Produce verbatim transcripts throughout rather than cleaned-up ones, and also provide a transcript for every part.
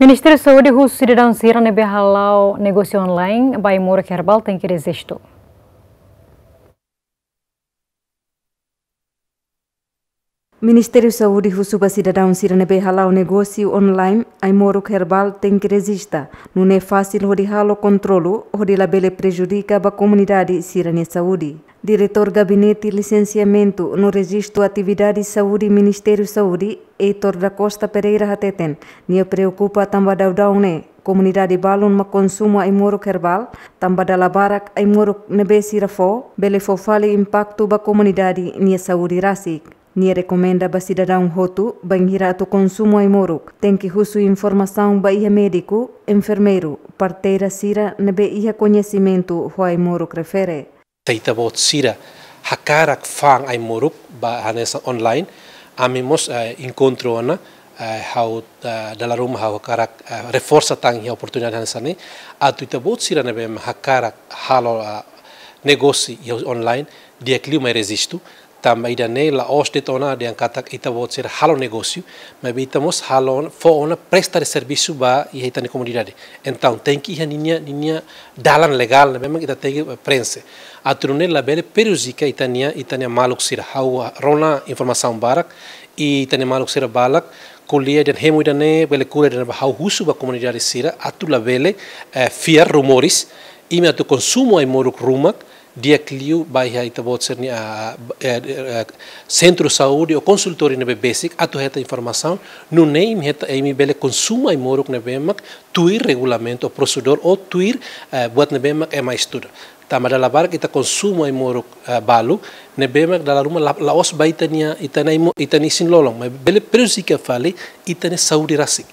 Ministériu Saúde husu sidadaun sira ne'ebé hala'o negósiu online ba ai-moruk herbál tenke rejistu. Ministériu Saúde husu ba sidadaun sira ne'ebé hala'o negósiu online ai-moruk herbál tenke rejista, nune'e fasil hodi halo kontrolu, hodi labele prejudika ba komunidade sira-nia saúde. Diretór Gabinete Lisensiamentu no Rejistu Atividade Saúde Ministériu Saúde, Heitor da Costa Pereira hateten, nia preokupa tanba daudaun ne'e komunidade balun mak konsumu ai-moruk herbál, tanba dala barak ai-moruk ne'ebé sira fó bele fó fali impaktu ba komunidade nia saúde rasik. Nia rekomenda ba sidadaun hotu, bainhira atu konsumu ai-moruk, tenke husu informasaun ba iha médiku, enfermeiru, parteira sira ne'ebé iha koñesimentu ho ai-moruk refere. Se ita-boot sira hakarak fa'an ai-moruk ba hanesan online, ami mós, eh, enkontru ona, eh, ha'u, eh, dala ruma ha'u hakarak, eh, reforsa tan iha oportunidade hanesan ne'e, atu ita-boot sira ne'ebé hakarak halo, eh, negósiu iha online, di'ak liu mai rejistu, tanba ida-ne'e la'ós de'it ona dehan katak ita-boot sira halo negósiu, maibé ita mós halo ona, fó ona presta de servisu ba iha ita-nia komunidade. Entaun, tenke iha ninia, ninia dalan legál ne'ebé mak ita tenke prenxe. Atu nune'e labele prejudika ita-nia, ita-nia maluk sira. Ha'u rona informasaun barak, i ita-nia maluk sira barak ko'alia dehan hemu ida-ne'e, bele kura ida-ne'e, ha'u husu ba komunidade sira atu labele, eh, fiar rumores, imi atu konsumu ai-moruk ruma, di'ak liu ba iha ita-boot sira-nia, ah, eh, eh, sentru saúde ou konsultóriu ne'ebé besik atu hetan informasaun, nune'e imi hetan, imi bele konsumu ai-moruk ne'ebé mak tuir regulamentu ou prosedór ou tuir, eh, buat ne'ebé mak ema estuda. Tanba dala barak ita konsumu ai-moruk, eh, balu, ne'ebé mak dala ruma la, la'ós ba ita-nia, ita-nia ai-mo-, ita-nia isin-lolon, maibé bele prejudika fali ita-nia saúde rasik.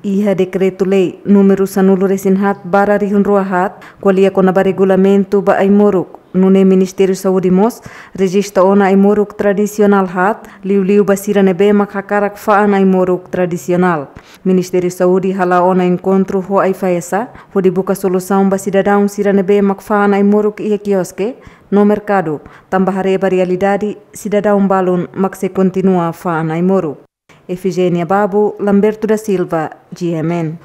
Iha dekretu-lei númeru sanulu-resin-haat barra rihun rua haat, ko'alia kona-ba regulamentu ba ai-moruk, nune'e Ministériu Saúde mós rejista ona ai-moruk tradisionál haat, liuliu ba sira ne'ebé mak hakarak fa'an ai-moruk tradisionál. Ministériu Saúde hala'o ona enkontru ho AIFAESA, hodi buka solusaun ba sidadaun sira ne'ebé mak fa'an ai-moruk iha kioske no merkadu, tanba haree ba realidade, sidadaun balun mak sei kontinua fa'an ai-moruk. Efigénia Babo, Lamberto da Silva, G M N.